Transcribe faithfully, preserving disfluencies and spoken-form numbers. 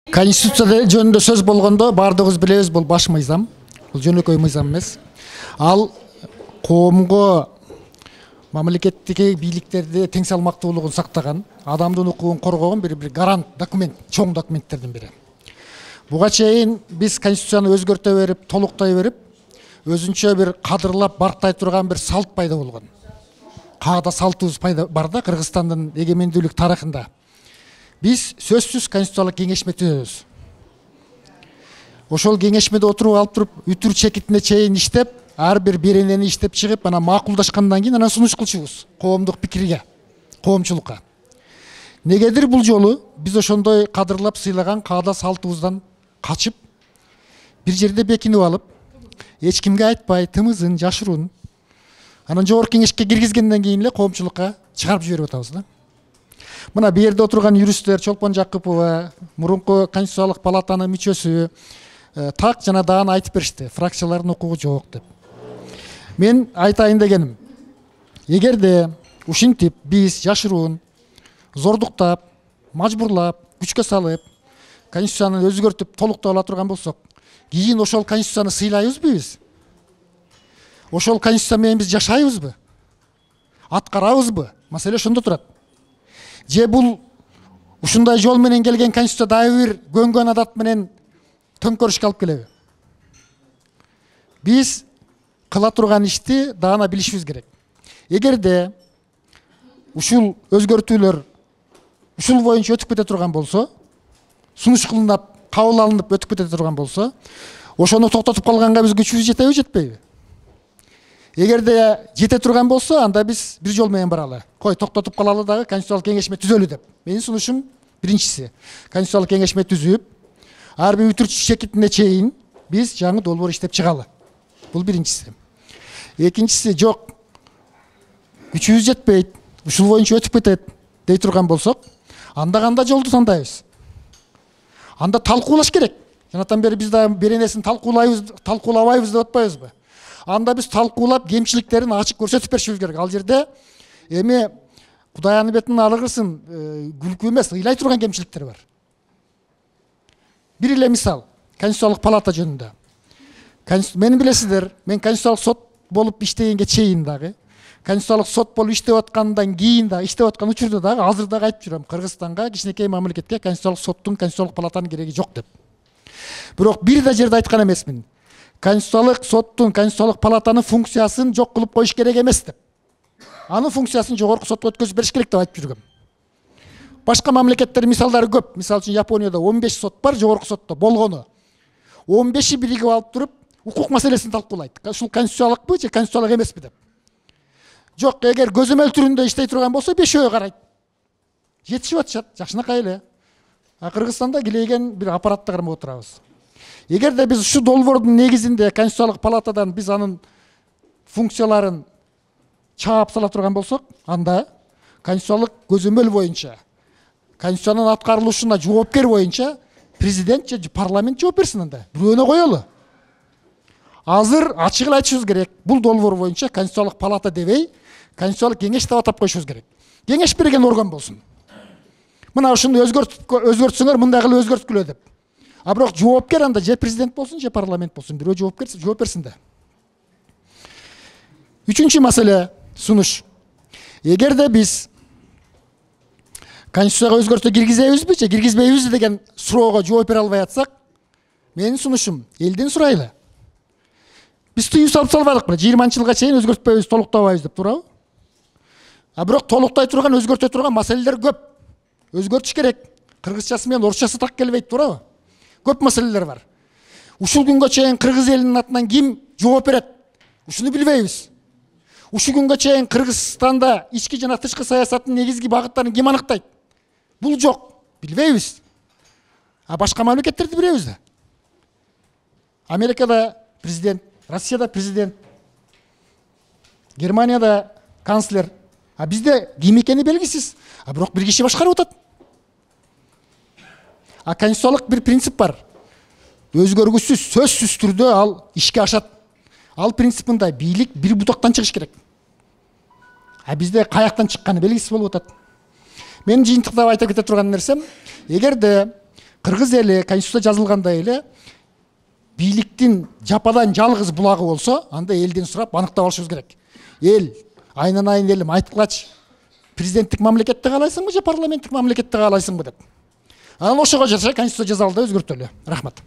Конституция жөнүндө сөз болгондо баардыгыбыз билебиз, бул баш мыйзам. Бул жөнөкөй мыйзам эмес. Ал коомго, мамлекеттеги бийликтерди тең салмактуулугун сактаган, адамдын укугун коргогон бир бир гарант документ, чоң документтердин бири. Буга чейин биз конституцияны өзгөртө берип, толуктай берип, өзүнчө бир кадырлап барктай турган бир салт пайда болгон. Каада салтыбыз пайда бар да Кыргызстандын эгемендүүлүк тарыхында. Биз сөзсүз конституциялык кеңешме түзөбүз. Ошол кеңешмеде отуруп алып туруп, үтүр чекитине чейин иштеп, ар бир беренени иштеп чыгып, анан макулдашкандан кийин анан сунуш кылчубуз коомдук пикирге, коомчулукка. Негедир бул жолу биз ошондой кадырлап сыйлаган каада салтыбыздан качып, бир жерде бекинип алып, эч кимге айтпай, тымызын, жашыруун, анан жогорку кеңешке киргизгенден кийин эле коомчулукка чыгарып жиберип атабыз да. Мына бу жерде отурган юристтер, Чолпон Жакыпова, мурунку конституциялык палатанын мүчөсү так жана даана айтып беришти, фракциялардын укугу жок деп. Мен айтайын дегеним, эгерде ушинтип биз жашыруун, зордуктап, мажбурлап, күчкө салып, конституцияны өзгөртүп, толуктап ала турган болсок, кийин ошол конституцияны сыйлайбызбы биз? Ошол конституция менен биз жашайбызбы? Аткарабызбы? Маселе ошондо турат. Же бул ушундай жол менен келген конституция дагы бир көнгөн адат менен төңкөрүшкө алып келеби? Биз кыла турган ишти даана билишибиз керек. Эгерде ушул өзгөртүүлөр ушул боюнча өтүп кете турган болсо, сунуш кылынып, кабыл алынып өтүп кете турган болсо, ошону токтотуп калганга биз күчүбүз жетеби, жетпейби? Эгерде жете турган болсо, анда биз бир жол менен баралы. Кой, токтотуп калалы дагы, конституциялык кеңешме түзөлү деп. Менин сунушум биринчиси, конституциялык кеңешме түзүп, ар бир үтүр чекитине чейин биз жаңы долбоор иштеп чыгалы. Бул биринчиси. Экинчиси, жок, күчүбүз жетпейт, ушул боюнча өтүп кетет дей турган болсок, анда кандай жолду тандайбыз? Анда талкуулаш керек. Жанатан бери биз да беренесин талкуулайбыз, талкуулабайбыз деп атпайбызбы? Анда биз талкуулап, кемчиликтерин ачык көрсөтүп беришибиз керек. Ал жерде эми Кудай аны бетин алгырсын, күлкү эмес, ыйлай турган кемчиликтер бар. Бир эле мисал, конституциялык палата жөнүндө. Мени билесиздер, мен конституциялык сот болуп иштегенге чейин дагы, конституциялык сот болуп иштеп аткандан кийин да, иштеп аткан учурда дагы, азыр дагы айтып жүрөм, Кыргызстанга, кичинекей мамлекетке конституциялык соттун, конституциялык палатанын кереги жок деп. Бирок бир да жерде айткан эмесмин. Конституциялык соттун, конституциялык палатанын функциясын жок кылып коюш керек эмес деп. Анын функциясын жогорку сотко өткөзүп бериш керек деп айтып жүргөм. Башка мамлекеттер мисалдары көп. Мисалы үчүн Японияда он беш сот бар, жогорку сотто болгону. он беши биригип алып туруп, укук маселесин талкуулайт. Ушул конституциялыкпы же конституциялык эмеспи деп. Жок, эгер көзөмөл түрүндө иштей турган болсо, бешөө карайт. Жетишип атышат, жакшынакай эле. А Кыргызстанда килейген бир аппаратты кармап отурабыз. Эгерде биз ушу долбоордун негизинде конституциялык палатадан биз анын функцияларын чаап сала турган болсок, анда конституциялык көзөмөл боюнча, конституциянын аткарылышына жоопкер боюнча президент же парламент жооп берсин анда. Бирөөнө коелу. Азыр ачык эле айтышыбыз керек. Бул долбоор боюнча конституциялык палата дебей, конституциялык кеңеш деп атап коюшубуз керек. Кеңеш берген орган болсун. Мына ушуну өзгөртүп өзгөртсөңөр, мындай кылып өзгөрткүлө деп. А бирок жоопкер анда же президент болсун, же парламент болсун, бирөө жоопкер жооп берсин да. Үчүнчү маселе сунуш. Эгерде биз конституцияга өзгөртүү киргизебизби же киргизбейбизби деген суроого жооп бере албай атсак, менин сунушум элден сурайлы. Биз тыюу салып салбадыкпы? жыйырманчы жылга чейин өзгөртпөйбүз, толуктабайбыз деп туурабы? А бирок толуктай турган, өзгөртө турган маселелер көп. Өзгөртүш керек. Кыргызчасы менен орусчасы так келбейт, туурабы? Көп маселелер бар. Ушул күнгө чейин кыргыз элинин атынан ким жооп берет? Ушуну билбейбиз. Ушул күнгө чейин Кыргызстанда ички жана тышкы саясаттын негизги багыттарын ким аныктайт? Бул жок. Билбейбиз. А башка мамлекеттерди билебиз да. Америкада президент, Россияда президент, Германияда канцлер. А бизде ким экени белгисиз. А бирок бир киши башкарып атат. А конституциялык бир принцип бар. Өзгөргүсүз, сөзсүз түрдө ал ишке ашат. Ал принцип мындай: бийлик бир бутактан чыгыш керек. А бизде каяктан чыкканы белгисиз болуп атат. Мен жыйынтыктап айта кете турган нерсем, эгерде кыргыз эли конституцияда жазылгандай эле бийликтин жападан жалгыз булагы болсо, анда элден сурап аныктап алышыбыз керек. Эл, айнанайын элим, айткылачы, президенттик мамлекетте каалайсыңбы же парламенттик мамлекетте каалайсыңбы деп. Анан ошого жараша конституция жазалы да өзгөртөлү. Рахмат.